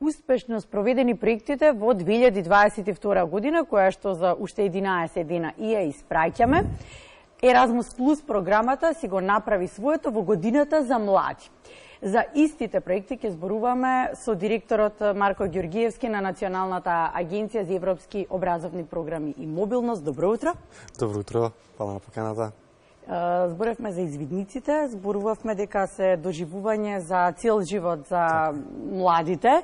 успешно спроведени проектите во 2022 година, која што за уште 11 дена и ја испраќаме. Еразмус Плюс програмата си го направи своето во годината за млади. За истите проекти ќе зборуваме со директорот Марко Ѓоргиевски на Националната агенција за европски образовни програми и мобилност. Добро утро. Добро утро, фала на поканата. Зборевме за извидниците, зборувавме дека се доживување за цел живот за младите,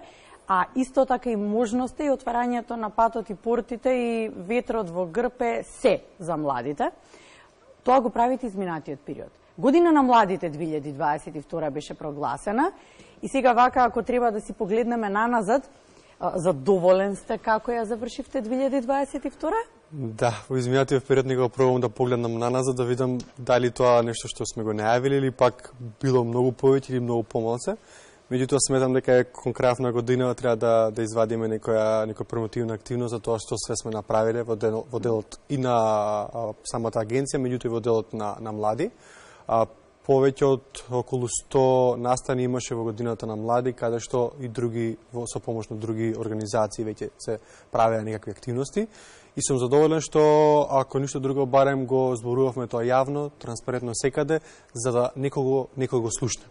а исто така и можности и отварањето на патот и портите и ветрот во грб е се за младите. Тоа го правите изминатиот период. Година на младите 2022 беше прогласена и сега вака, ако треба да си погледнеме наназад, задоволен сте како ја завршивте 2022? Да, во изминатиот период не го пробувам да погледнам наназад, да видам дали тоа нешто што сме го најавили или пак било многу повеќе или многу помалце. Меѓутоа сметам дека е кон крајот на година треба да извадиме некоја промотивна активност за тоа што све сме направиле во делот и на самата агенција, меѓутоа и во делот на млади. Повеќе од околу 100 настани имаше во годината на млади, каде што и други, со помош на други организации веќе се правеа некакви активности. И сум задоволен што, ако ништо друго, барем го зборувавме тоа јавно, транспарентно секаде, за да некого го слушне.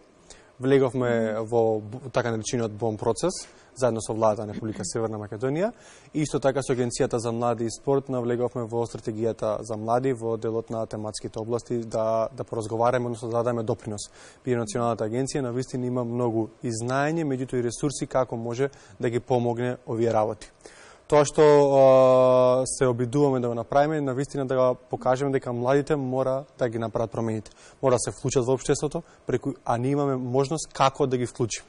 Влеговме во така наречениот БОМ процес, заедно со владата на Република Северна Македонија, и исто така со Агенцијата за млади и спорт навлеговме во стратегијата за млади во делот на тематските области да поразговараме, односно да дадеме допринос. Пие Националната агенција навистина има многу и знаење, меѓутоа и ресурси како може да ги помогне овие работи. Тоа што се обидуваме да го направиме, навистина да го покажеме дека младите мора да ги направат промените. Мора да се вклучат во општеството, а ние имаме можност како да ги вклучим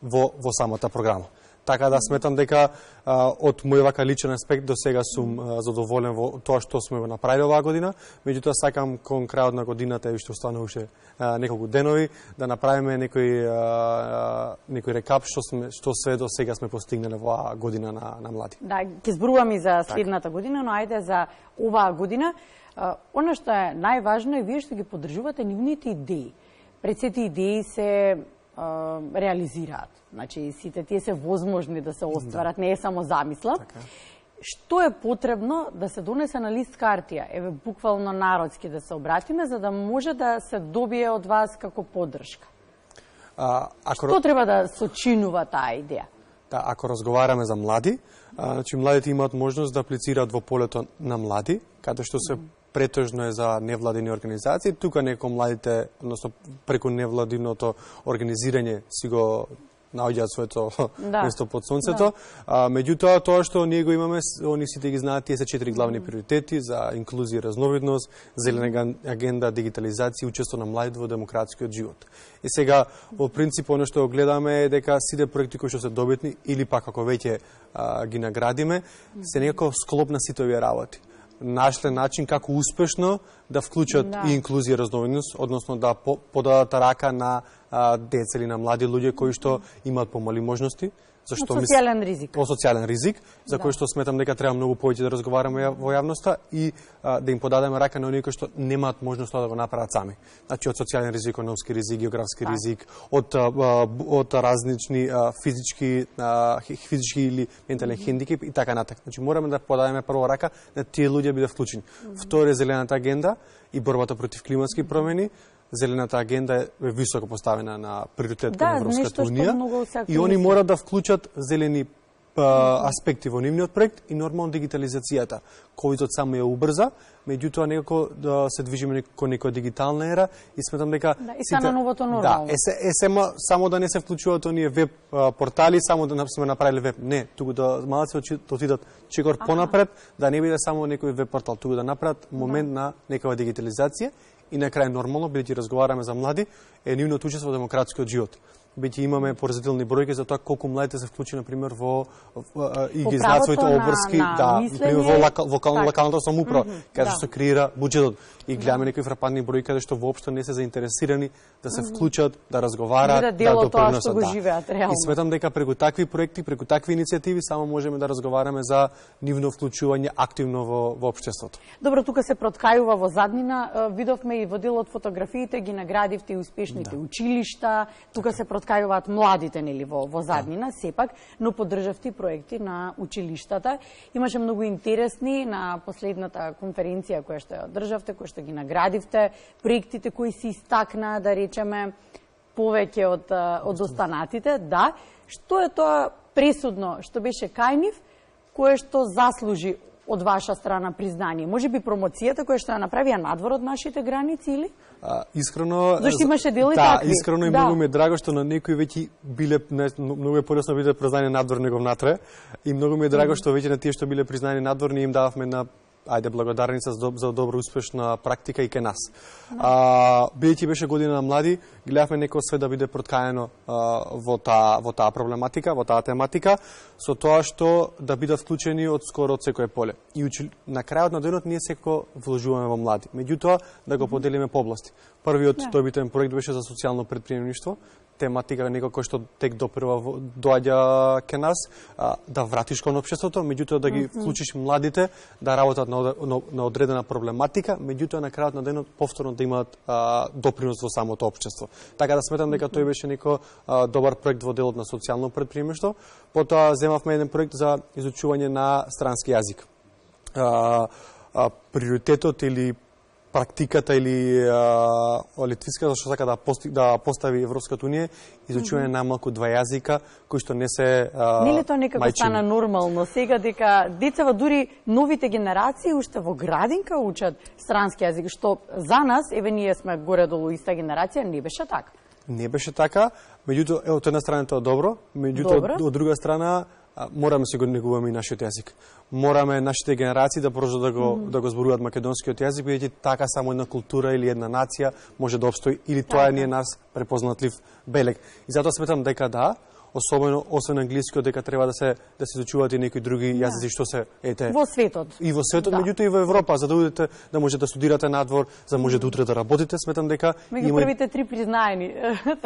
во самата програма. Така да сметам дека од мој вака личен аспект до сега сум задоволен во тоа што сме го направили оваа година, меѓутоа сакам кон крајот на годината и што остана уште неколку денови да направиме некој рекап што све до сега сме постигнале во оваа година на млади. Да, ќе зборувам и за следната година, но ајде за оваа година. Она што е најважно е вие што ги поддржувате нивните идеи. Пред сите идеи се реализираат. Значи, сите тие се возможни да се остварат, не е само замисла. Така. Што е потребно да се донесе на лист картија, еве буквално народски да се обратиме, за да може да се добие од вас како поддршка? Што треба да сочинува таа идеја? Да, ако разговараме за млади, значи младите имаат можност да аплицираат во полето на млади, каде што се претежно е за невладини организации. Тука некои младите, односно преку невладиното организирање си го наоѓаат своето место под сонцето. Меѓутоа, тоа што ние го имаме, они сите ги знаат, тие се 4 главни приоритети за инклузија и разновидност, зелена агенда, дигитализација и учество на младите во демократскиот живот. И сега, во принцип, оно што гледаме е дека сите проекти кои што се добитни, или пак ако веќе ги наградиме, се некако склоп на сите овие работи. Нашле начин како успешно да вклучат и инклузија и разновидност, односно да подадат рака на деца или на млади луѓе кои што имаат помали можности, социјален ризик. По социјален ризик, за кој што сметам дека треба многу повеќе да разговараме во јавноста и да им подадеме рака на оние кои што немаат можност да го направат сами. Значи од социјален ризик, економски ризик, географски ризик, од различни физички или ментален хендикеп и така натаму. Значи мораме да подадеме прво рака на тие луѓе биде вклучени. Второ е зелената агенда и борбата против климатски промени. Зелената агенда е високо поставена на приоритет на Европската унија и они мора да вклучат зелени аспекти во нивниот проект и нормално дигитализацијата. Ковидот само ја убрза, меѓутоа некако да се движиме кон некоја дигитална ера и сметам дека и стана новото нормално. Да, само да не се вклучуваат оние веб портали, само да сме направиле веб. Не, туку да малце отидат чекор понапред, да не биде само некој веб портал, туку да направат момент на некава дигитализација. И на крај нормално, бидејќи разговараме за млади, е нивното учество во демократскиот живот. Бидејќи имаме поразителни бројки за тоа колку младите се вклучи на пример и ги знаат своите обврски, во локалната самоуправа, каде што се креира буџетот. И гледаме некои фрапантни бројки каде што воопшто не се заинтересирани да се вклучат, да разговараат, да допринесат. И сметам дека преку такви проекти, преку такви иницијативи само можеме да разговараме за нивно вклучување активно во општеството. Добро, тука се проткајува во заднина, видовме и во делот фотографиите ги наградивте и успешните училишта, тука се проткајуваат младите нели во заднина, сепак, но поддржавте проекти на училиштата. Имаше многу интересни на последната конференција која што ја одржавте, која што ги наградивте, проектите кои се истакнаа, да речеме, повеќе од останатите. Да, што е тоа пресудно што беше кај нив, кое што заслужи од ваша страна признание? Може би промоцијата која што ја направија надвор од нашите граници или? Искрено, зашто имаше дел и такви. Да, искрено и многу ми е драго што на некои веќе биле многу е полесно биде признани надвор него внатре и многу ми е драго што веќе на тие што биле признани надвор ние им дававме на благодарница за добро успешна практика и кај нас. Бидејќи беше година на млади, гледавме некој све да биде проткаено во таа проблематика, во таа тематика, со тоа што да бидат вклучени од скоро од секое поле. И на крајот на денот ние секако вложуваме во млади. Меѓутоа да го поделиме по области. Првиот добитен проект беше за социјално предприемништво, тематика некој што тек допрва доаѓа ке нас, да вратиш кон општеството, меѓутоа да ги вклучиш младите да работат на одредена проблематика, меѓутоа на крајот на денот повторно да имаат допринос во самото општество. Така да сметам дека тој беше некој добар проект во делот на социјално предприемништво. Потоа земавме еден проект за изучување на странски јазик. Приоритетот или практиката или литвиската што сака да постави Европската унија, изучување најмалку 2 јазика кои што не се Нели тоа некако стана нормално сега дека децава дури новите генерации уште во градинка учат странски јазик, што за нас, еве ние сме горе-долу иста генерација, не беше така. Не беше така, меѓутоа од една страна тоа е добро, меѓутоа од друга страна мораме се го негуваме и нашиот јазик. Мораме нашите генерации да продолжат да го зборуваат македонскиот јазик, бидејќи така само една култура или една нација може да опстои или тоа ни е нас препознатлив белег. И затоа сметам дека да, особено освен англискиот дека треба да се изучуваат и некои други јазици што се во светот. И во светот, меѓутоа и во Европа, за да одите да можете да студирате надвор, за да може да утре да работите, сметам дека меѓу првите 3 признаени.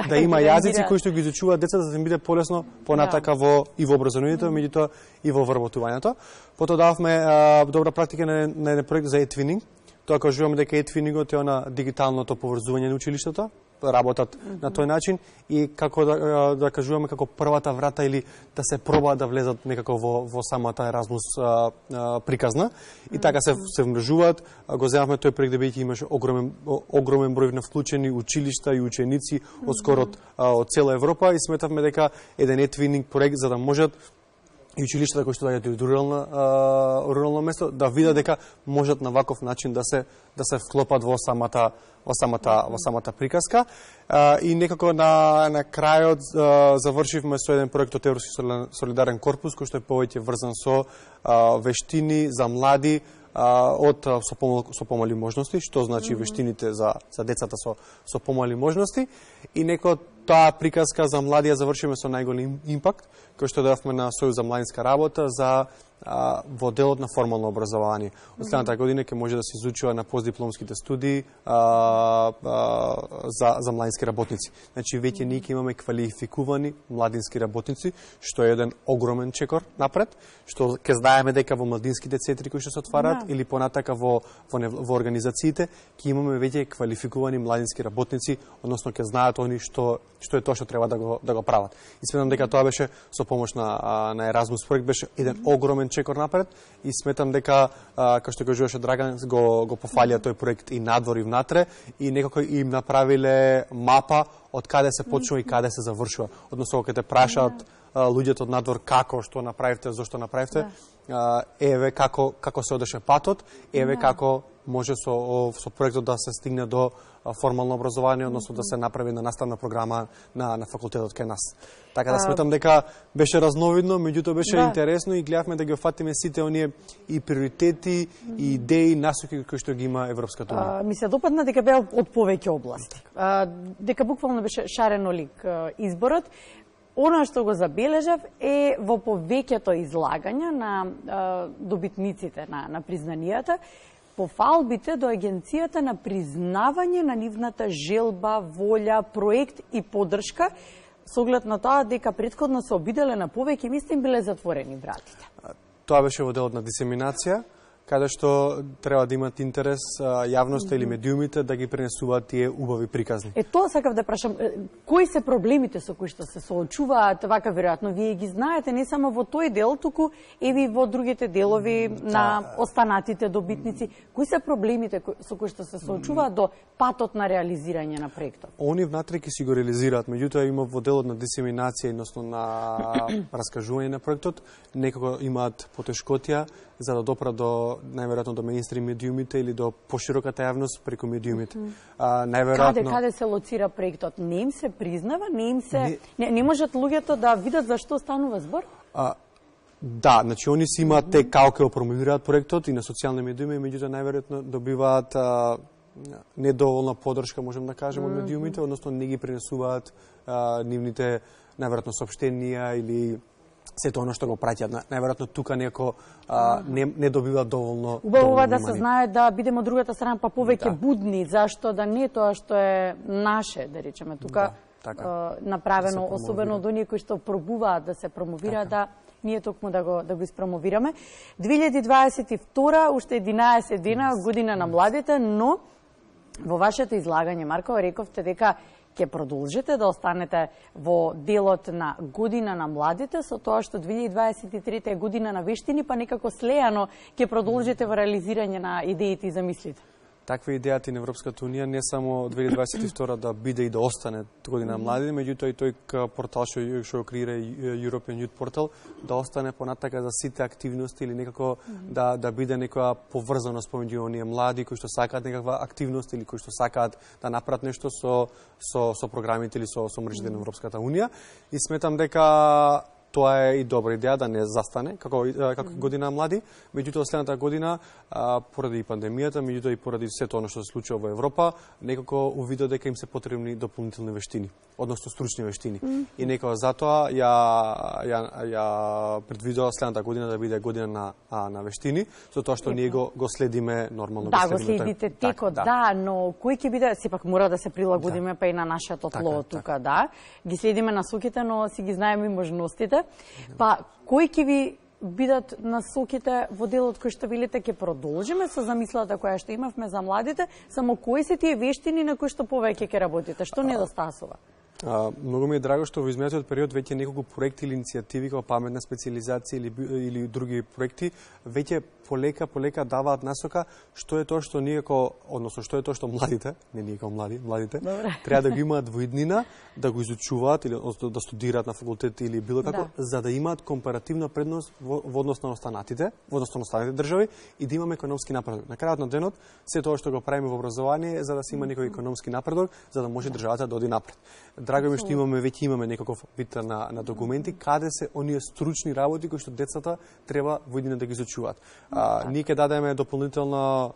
Да има јазици кои што ги изучуваат децата за да им биде полесно понатака и во образованието, меѓутоа и во вработувањето. Потоа дававме добра практика на еден проект за e-twinning. Тоа кажуваме дека e-twinningот е она дигиталното поврзување на училиштата, работат на тој начин и како да кажуваме како првата врата или да се проба да влезат некако во самата Еразмус приказна и така се вмрежуваат. Го земавме тој проект бидејќи имаше огромен број на вклучени училишта и ученици од скоро од цела Европа и сметавме дека еден e-twinning проект за да можат и училиштата кои што доаѓаат од рурално место да видат дека можат на ваков начин да се вклопат во самата приказка. И некако на крајот завршивме со еден проект од Европски солидарен корпус кој што е повеќе врзан со вештини за млади со помали можности, што значи вештините за децата со помали можности и некој таа приказка за млади ја завршиме со најголем импакт кој што давме на Сојуз за младинска работа за во делот на формално образование. Од следната година ќе може да се изучува на постдипломските студии за младински работници. Значи веќе ние ќе имаме квалификувани младински работници, што е еден огромен чекор напред, што ќе знаеме дека во младинските центри кои што се отвараат или понатака во организациите ќе имаме веќе квалификувани младински работници, односно ќе знаат они што е тоа што треба да го прават. И сметам дека тоа беше со помош на Еразмус проект беше еден огромен чекор напред и сметам дека како што кажуваше Драган го пофалија тој проект и надвор и внатре и некако им направиле мапа од каде се почнува и каде се завршува. Односно кога те прашаат луѓето од надвор како што направивте, зошто направивте, еве како се одеше патот, еве како може со проектот да се стигне до формално образование, односно да се направи на наставна програма на факултетот кај нас. Така да сметам дека беше разновидно, меѓутоа беше интересно и гледавме да ги офатиме сите оние и приоритети, и идеи, насоки кои што ги има Европската унија. Ми се допадна дека беа од повеќе области. Дека буквално беше шаренолик изборот. Она што го забележав е во повеќето излагања на добитниците на признанијата, пофалбите до агенцијата на признавање на нивната желба, волја, проект и поддршка, со оглед на тоа дека претходно се обиделе на повеќе места им биле затворени вратите. Тоа беше во делот на дисеминација. каде што треба да имат интерес јавноста или медиумите да ги пренесуваат тие убави приказни. Тоа сакав да прашам, кои се проблемите со кои што се соочуваат, вака веројатно вие ги знаете не само во тој дел, туку и во другите делови на останатите добитници. Кои се проблемите со кои што се соочуваат до патот на реализирање на проектот? Они внатре ќе си го реализираат, меѓутоа има во делот на дисеминација, односно на раскажување на проектот, некако имаат потешкотија за да допрат до најверојатно до меинстрим медиумите или до пошироката јавност преку медиумите. Најверојатно Каде се лоцира проектот? Не им се признава, не можат луѓето да видат за што станува збор? Да, значи они си имаат те како промовираат проектот и на социјални медиуми, меѓутоа најверојатно добиваат недоволна поддршка, можем да кажеме, од медиумите, односно не ги пренесуваат нивните најверојатно соопштенија или сето оно што го праќаат. Најверојатно тука некој не добива доволно. Убаво да се знае да бидеме од другата страна па повеќе будни, зашто да не тоа што е наше, да речеме тука, направено, особено од оние кои што пробуваат да се промовираат, да ние токму да го испромовираме. 2022, уште 11 дена, година на младите, но во вашето излагање, Марко, рековте дека ќе продолжите да останете во делот на година на младите, со тоа што 2023 е година на вештини, па некако слеано ќе продолжите во реализирање на идеите и замислите. Таква идејата и на Европската унија не само 2022 да биде и да остане година на младите, меѓутоа и тој портал што го креира European Youth Portal да остане понатака за сите активности или некако да биде некоја поврзаност помеѓу оние млади кои што сакаат некаква активност или кои што сакаат да направат нешто со програмите или со мрежите на Европската унија. И сметам дека тоа е и добра идеја да не застане како година млади, меѓутоа следната година поради пандемијата, меѓутоа и поради сето оно што се случува во Европа, некако увидов дека им се потребни дополнителни вештини, односно стручни вештини. И некако затоа ја предвидува следната година да биде година на вештини, со тоа што ние го следиме нормално. Да, го следите текот, да, но кој ќе биде, сепак мора да се прилагодиме па и на нашето тло тука, да. Ги следиме насоките, но си ги знаеме и можностите. Па, кои ќе ви бидат насоките во делот кој што велите ќе продолжиме со замислата која што имавме за младите, само кои се тие вештини на кои што повеќе ќе работите? Што недостасува? Многу ми е драго што во изминатиот период веќе неколку проекти или иницијативи како паметна специализација или други проекти веќе полека даваат насока што е тоа што ние односно што е тоа што младите, не ние како младите, треба да го имаат во иднина, да го изучуваат или да студираат на факултет или било како, за да имаат компаративна предност во однос на останатите држави и да имаме економски напредок. На крајот на денот, се тоа што го правиме во образование е за да се има некој економски напредок, за да може државата да оди напред. Драго ми што веќе имаме некаков вид на документи каде се оние стручни работи кои што децата треба во иднина да ги изучуваат. Ние ќе дадеме дополнителна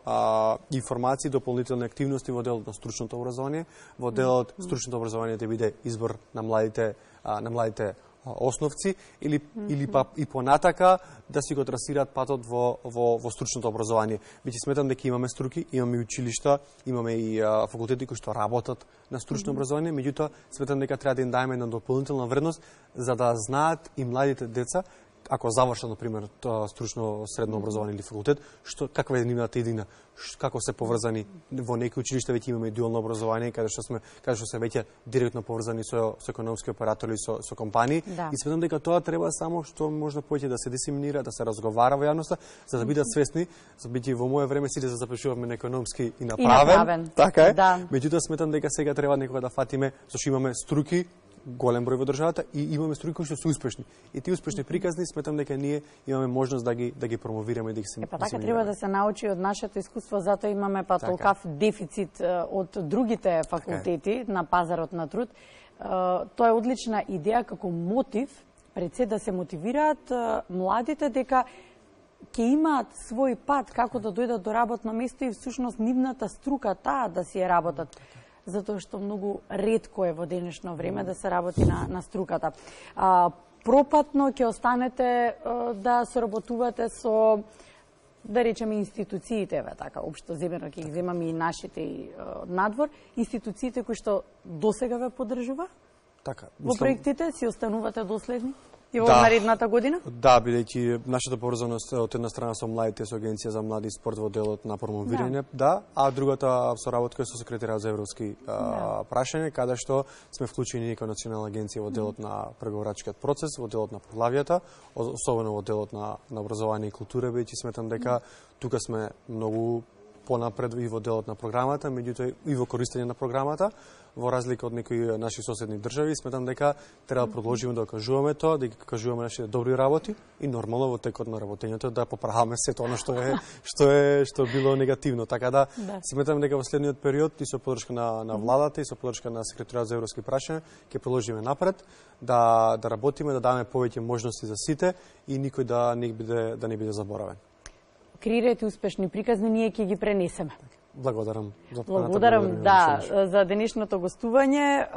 информации, дополнителни активности во делот на стручното образование, во делот стручното образование да биде избор на младите основци или па и понатака да си го трасираат патот во стручното образование. Веќе сметам дека имаме струки, имаме и училишта, имаме и факултети кои што работат на стручно образование, меѓутоа сметам дека треба да им даеме една дополнителна вредност за да знаат и младите деца ако завршат, например, стручно средно образование или факултет, каква е нивната идеја, како се поврзани. Во некои училишта веќе имаме дуално образование, каде што се веќе директно поврзани со економски оператори, со компании. Да. И сметам дека тоа треба само што можда повеќе да се дисеминира, да се разговара во јавноста, за да бидат свесни, за бидејќи во моје време сите се запишувавме на економски и на правен. Така е. Да. Меѓутоа сметам дека сега треба некога да фатиме, зашто имаме струки, голем број во државата и имаме струки кои што се успешни. И тие успешни приказни сметам дека ние имаме можност да ги промовираме и да ги се. Па така треба да се научи од нашето искуство, затоа имаме толкав дефицит од другите факултети на пазарот на труд. Тоа е одлична идеја како мотив пред се да се мотивираат младите дека ќе имаат свој пат како да дојдат до работно место и всушност нивната струка таа да си ја работат. Затоа што многу ретко е во денешно време да се работи на струката. Пропатно ќе останете да соработувате со, да речеме, институциите, така, општо земено ќе ги земаме и нашите и надвор, институциите кои што досега ве поддржува? Така. Во проектите си останувате доследни? и во наредната година? Да, бидејќи нашата поврзаност од една страна со младите, со Агенција за млади и спорт во делот на промовирање, а другата соработка со секретарот за европски прашања, каде што сме вклучени како национална агенција во делот на преговорачкиот процес, во делот на поглавијата, особено во делот на образование и култура, бидејќи сметам дека тука сме многу понапред и во делот на програмата, меѓутоа и во користење на програмата, во разлика од некои наши соседни држави, сметам дека треба да продолжиме да кажуваме тоа, да ги кажуваме нашите добри работи и нормално во текот на работењето да поправаме сето она што било негативно. Така да сметам дека во следниот период и со поддршка на владата и со поддршка на секретарот за европски прашања ќе продолжиме напред да работиме, да даваме повеќе можности за сите и никој да не биде заборавен. Креирајте успешни приказни, ние ќе ги пренесеме. Благодарам за за денешното гостување.